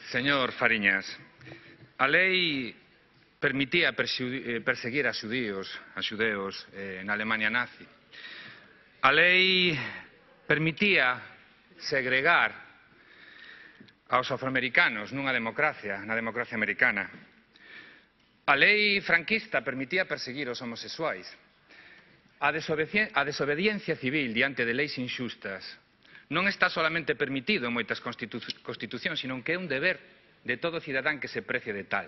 Señor Fariñas, a lei permitía perseguir a xudeos na Alemania nazi. A lei permitía segregar aos afroamericanos na democracia americana. A lei franquista permitía perseguir os homosexuais. A desobediencia civil diante de leis inxustas non está solamente permitido en moitas constitucións, sino que é un deber de todo cidadán que se precie de tal.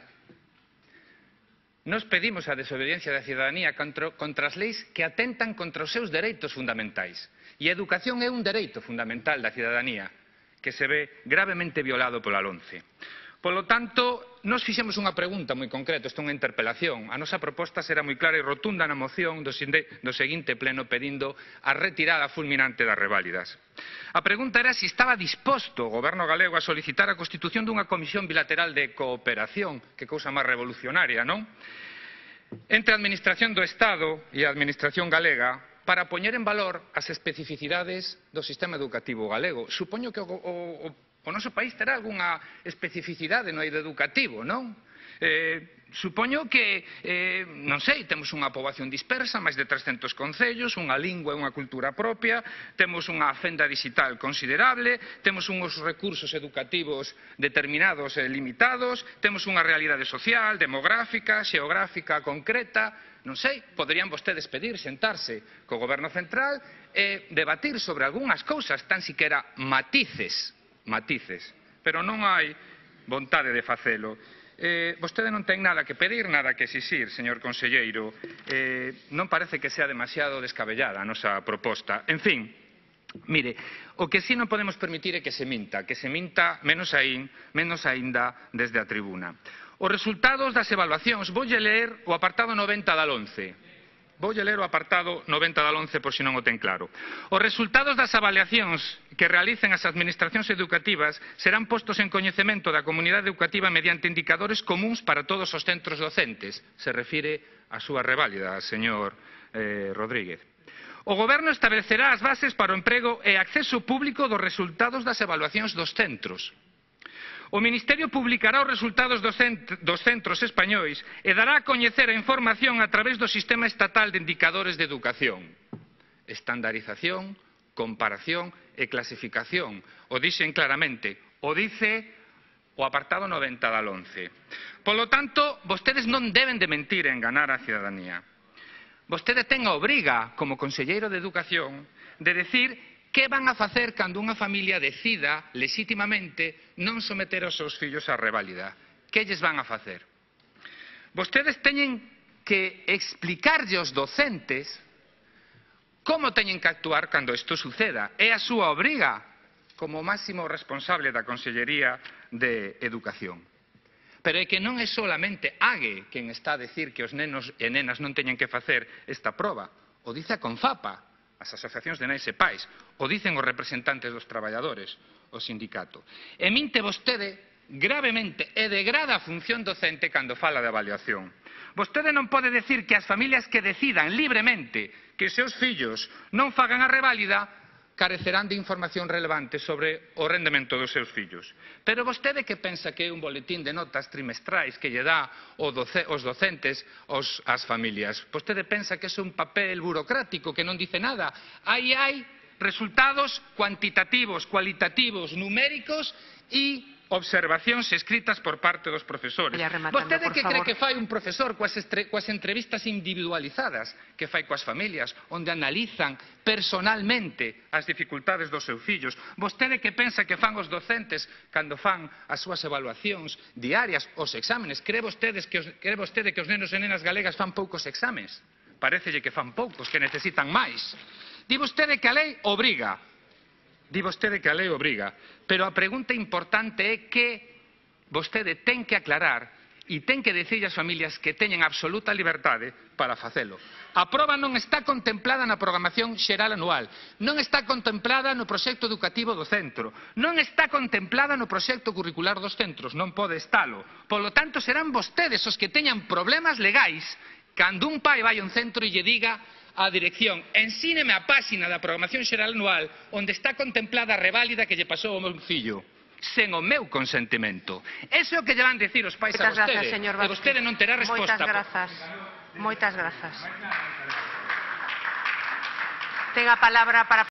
Nos pedimos a desobediencia da cidadanía contra as leis que atentan contra os seus dereitos fundamentais. E a educación é un dereito fundamental da cidadanía que se ve gravemente violado pola LOMCE. Polo tanto, nos fixemos unha pregunta moi concreta, isto é unha interpelación. A nosa proposta será moi clara e rotunda na moción do seguinte pleno pedindo a retirada fulminante das reválidas. A pregunta era se estaba disposto o goberno galego a solicitar a constitución dunha comisión bilateral de cooperación, que cousa máis revolucionaria, non? Entre a Administración do Estado e a Administración galega para poñer en valor as especificidades do sistema educativo galego. Supoño que o noso país terá algunha especificidade no eido educativo, non? Supoño que, non sei, temos unha poboación dispersa, máis de 300 concellos, unha lingua e unha cultura propia, temos unha fenda digital considerable, temos uns recursos educativos determinados e limitados, temos unha realidade social, demográfica, xeográfica concreta, non sei, poderían vostedes pedir sentarse co goberno central e debatir sobre algunhas cousas, tan siquera matices, pero non hai vontade de facelo. Vostede non ten nada que pedir, nada que exixir, señor conselleiro. Non parece que sea demasiado descabellada a nosa proposta. En fin, mire, o que si non podemos permitir é que se minta menos aínda desde a tribuna. Os resultados das evaluacións, voulle ler o apartado 90 da LOMCE. Voulle ler o apartado 90 da LOMCE por se non o ten claro. Os resultados das avaliacións que realicen as administracións educativas serán postos en coñecemento da comunidade educativa mediante indicadores comúns para todos os centros docentes. Se refire á súa reválida, señor Rodríguez. O Goberno establecerá as bases para o emprego e acceso público dos resultados das evaluacións dos centros. O Ministerio publicará os resultados dos centros españois e dará a coñecer a información a través do Sistema Estatal de Indicadores de Educación. Estandarización, comparación e clasificación. O dixen claramente, o dice o apartado 90 da LOMCE. Polo tanto, vostedes non deben de mentir e enganar a cidadanía. Vostede ten a obriga, como conselleiro de Educación, de decir que van a facer cando unha familia decida legitimamente non someter os seus fillos á reválida? Que lles van a facer? Vostedes teñen que explicarlle aos docentes como teñen que actuar cando isto suceda. É a súa obriga como máximo responsable da Consellería de Educación. Pero é que non é solamente AGE quen está a decir que os nenos e nenas non teñen que facer esta proba. O dice a CONFAPA, as asociacións de nais e pais, o dicen os representantes dos traballadores, o sindicato. E minte vostede gravemente e degrada a función docente cando fala de avaliación. Vostede non pode decir que as familias que decidan libremente que os seus fillos non fagan a reválida carecerán de información relevante sobre o rendemento dos seus fillos. Pero vostede que pensa que é un boletín de notas trimestrais que lle dá os docentes ás familias? Vostede pensa que é un papel burocrático que non dice nada? Aí hai resultados cuantitativos, cualitativos, numéricos e observacións escritas por parte dos profesores. Vostede que cree que fai un profesor coas entrevistas individualizadas que fai coas familias, onde analizan personalmente as dificultades dos seus fillos? Vostede que pensa que fan os docentes cando fan as súas evaluacións diarias, os exámenes? Cree vostede que os nenos e nenas galegas fan poucos exames? Parécelle que fan poucos, que necesitan máis. Di vostede que a lei obriga. Pero a pregunta importante é que vostede ten que aclarar e ten que dicir ás familias que teñen absoluta liberdade para facelo. A proba non está contemplada na programación xeral anual, non está contemplada no proxecto educativo do centro, non está contemplada no proxecto curricular dos centros, non pode estalo. Polo tanto, serán vostedes os que teñan problemas legais cando un pai vai a un centro e lle diga a dirección: ensíneme a páxina da programación xeral anual onde está contemplada a reválida que lle pasou ao meu fillo. sen o meu consentimento. Eso é o que lle van dicir os pais a Moitas vostede. grazas, señor E Vázquez. vostede non terá resposta. Moitas grazas. Moitas grazas. Ten a palabra para